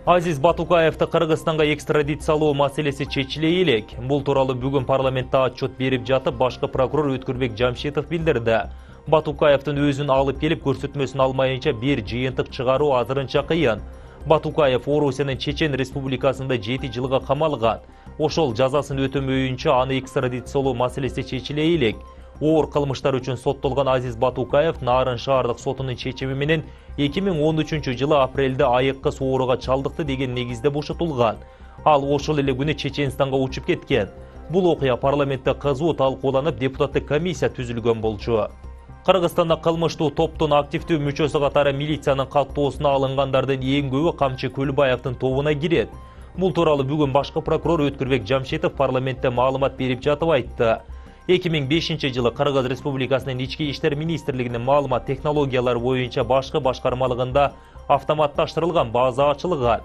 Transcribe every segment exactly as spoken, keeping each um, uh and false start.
Азиз Батукаевди Кыргызстанга экстрадициялоо маселеси чечиле элек. Бул тууралуу бүгүн парламентте отчет берип жатып, башкы прокурор Өткүрбек Жамшитов билдирди. Батукаевдин өзүн алып келип көрсөтмөсүн алмайынча бир жыйынтык чыгаруу азырынча кыйын. Батукаев Орусиянын Чечен Республикасында жети жылга камалган. Ошол жазасын өтөмөйүнчө аны экстрадициялоо маселеси чечиле элек. Оор кылмыштар үчүн соттолгон Азиз Батукаев Нарын шаардык сотунун чечими менен эки миң он үчүнчү жылы апрелде айыкка сооруга чалдыкты деген негизде бошотулган. Ал ошол эле күнү Чеченстанга учуп кеткен. Бул окуя парламентте кызуу талкууланып, депутаттык комиссия түзүлгөн болчу. Кыргызстанда кылмыштуу топтун активдүү мүчөсү катары милициянын каттоосуна алынгандардын эң көбү Камчы Көлбаевдин тобуна кирет. Бул тууралуу бүгүн башкы прокурор Өткүрбек Жамшитов парламентте маалымат берип жатып айтты. эки миң бешинчи жылы Кыргыз Республикасынын Ички иштер министрлигинин маалымат технологиялары боюнча башкы башкармалыгында автоматташтырылган база ачылган.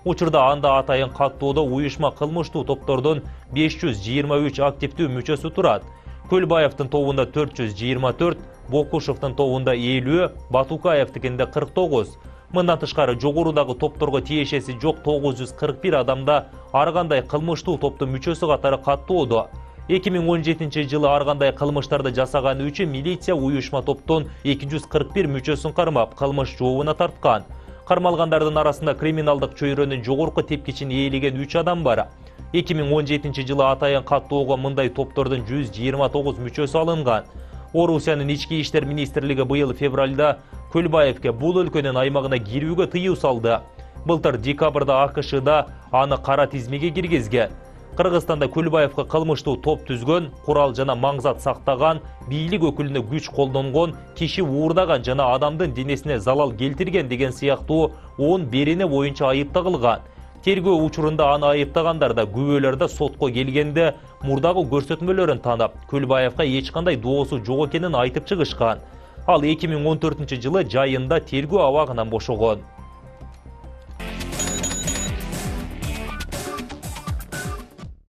Учурда анда атайын каттоодо уюшма кылмыштуу топтордун беш жүз жыйырма үч активдүү мүчөсү турат. Көлбаевдин тобунда төрт жүз жыйырма төрт, Бокушевдин тобунда элүү, Батукаевдикинде кырк тогуз. Мындан тышкары жогорудагы топторго тиешеси жок тогуз жүз кырк бир адамда ар кандай кылмыштуу топтун мүчөсү катары каттоодо. эки миң он жетинчи жылы ар кандай кылмыштарды жасаганы үчүн милиция уюшма топтун эки жүз кырк бир мүчөсүн кармап, кылмыш жообуна тарткан. Кармалгандардын арасында криминалдык чөйрөнүн жогорку тепкичин ээлеген үч адам бар. эки миң он жетинчи жылы атайын каттоого мындай топтордун жүз жыйырма тогуз мүчөсү алынган. Орусиянын Ички иштер министрлиги быйыл февралда Көлбаевге бул өлкөнүн аймагына кирүүгө тыюу салды. Былтыр декабрда АКШда аны кара тизмеге киргизген. Кыргызстанда Көлбаевга кылмыштуу топ түзгөн, курал жана маңзат сактаган, бийлик өкүлүнө күч колдонгон, киши уурдаган жана адамдын денесине залал келтирген деген сыяктуу он берене боюнча айып тагылган. Тергөө учурунда аны айыптагандар да, күбөлөр да сотко келгенде мурдагы көрсөтмөлөрүн таанып, Көлбаевга эч кандай доосу жок экенин айтып чыгышкан. Ал эки миң он төртүнчү жылы жайында тергөө абагынан бошогон.